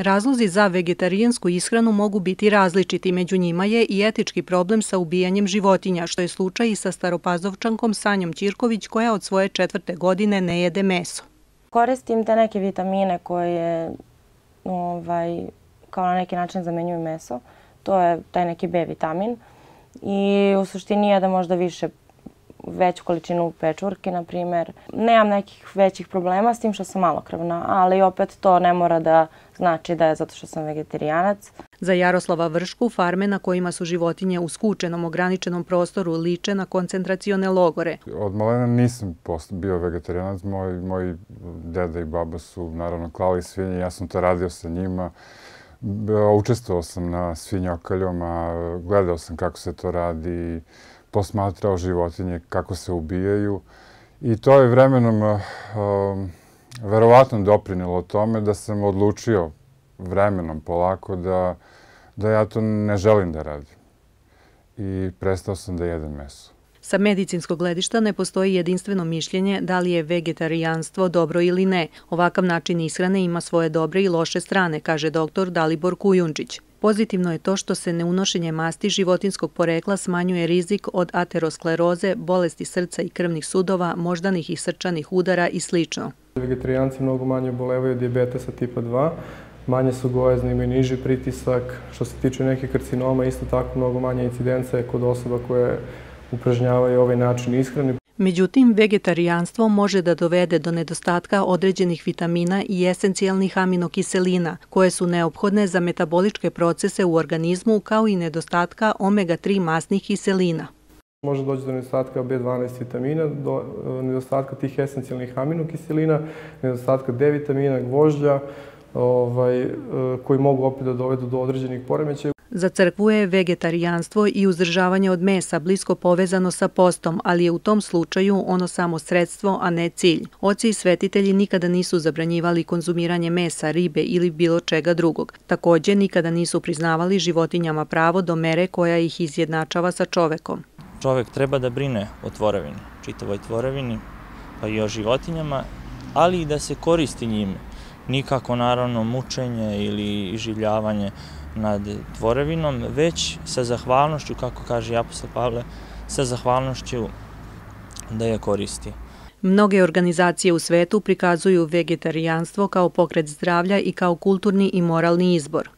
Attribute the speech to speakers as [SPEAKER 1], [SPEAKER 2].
[SPEAKER 1] Razlozi za vegetarijansku ishranu mogu biti različiti, među njima je i etički problem sa ubijanjem životinja, što je slučaj i sa Staropazovčankom Sanjom Ćirković koja od svoje 4. godine ne jede meso.
[SPEAKER 2] Koristim te neke vitamine koje kao na neki način zamenjuju meso. To je taj neki B vitamin i u suštini jedem možda veću količinu pečurke, na primjer. Nemam nekih većih problema s tim što sam malokrvna, ali opet to ne mora da znači da je zato što sam vegetarijanac.
[SPEAKER 1] Za Jaroslava Vršku, farme na kojima su životinje u skučenom, ograničenom prostoru liče na koncentracione logore.
[SPEAKER 3] Od malena nisam bio vegetarijanac. Moji deda i baba su naravno klali svinje, ja sam to radio sa njima. Učestvovao sam na svinjokaljama, gledao sam kako se to radi, posmatrao životinje kako se ubijaju i to je vremenom verovatno doprinelo tome da sam odlučio vremenom polako da ja to ne želim da radim i prestao sam da jedem meso.
[SPEAKER 1] Sa medicinskog gledišta ne postoji jedinstveno mišljenje da li je vegetarijanstvo dobro ili ne. Ovakav način ishrane ima svoje dobre i loše strane, kaže dr. Dalibor Kujundžić. Pozitivno je to što se neunošenje masti životinskog porekla smanjuje rizik od ateroskleroze, bolesti srca i krvnih sudova, moždanih i srčanih udara i sl.
[SPEAKER 4] Vegetarijanci mnogo manje obolevaju od dijabetesa tipa 2, manje su gojezni, imaju niži pritisak. Što se tiče nekih karcinoma, isto tako mnogo manje incidenca je kod osoba koje upražnjavaju ovaj način ishrane.
[SPEAKER 1] Međutim, vegetarijanstvo može da dovede do nedostatka određenih vitamina i esencijalnih aminokiselina, koje su neophodne za metaboličke procese u organizmu, kao i nedostatka omega-3 masnih kiselina.
[SPEAKER 4] Može doći do nedostatka B12 vitamina, do nedostatka tih esencijalnih aminokiselina, nedostatka D vitamina, gvožđa, koji mogu opet da dovedu do određenih poremećaja.
[SPEAKER 1] Za crkvu je vegetarijanstvo i uzdržavanje od mesa blisko povezano sa postom, ali je u tom slučaju ono samo sredstvo, a ne cilj. Oci i svetitelji nikada nisu zabranjivali konzumiranje mesa, ribe ili bilo čega drugog. Također, nikada nisu priznavali životinjama pravo do mere koja ih izjednačava sa čovekom.
[SPEAKER 5] Čovek treba da brine o tvorevini, čitavoj tvorevini, pa i o životinjama, ali i da se koristi njime. Nikako, naravno, mučenje ili iživljavanje nad tvorevinom, već sa zahvalnošću, kako kaže apostol Pavle, sa zahvalnošću da je koristi.
[SPEAKER 1] Mnoge organizacije u svetu prikazuju vegetarijanstvo kao pokret zdravlja i kao kulturni i moralni izbor.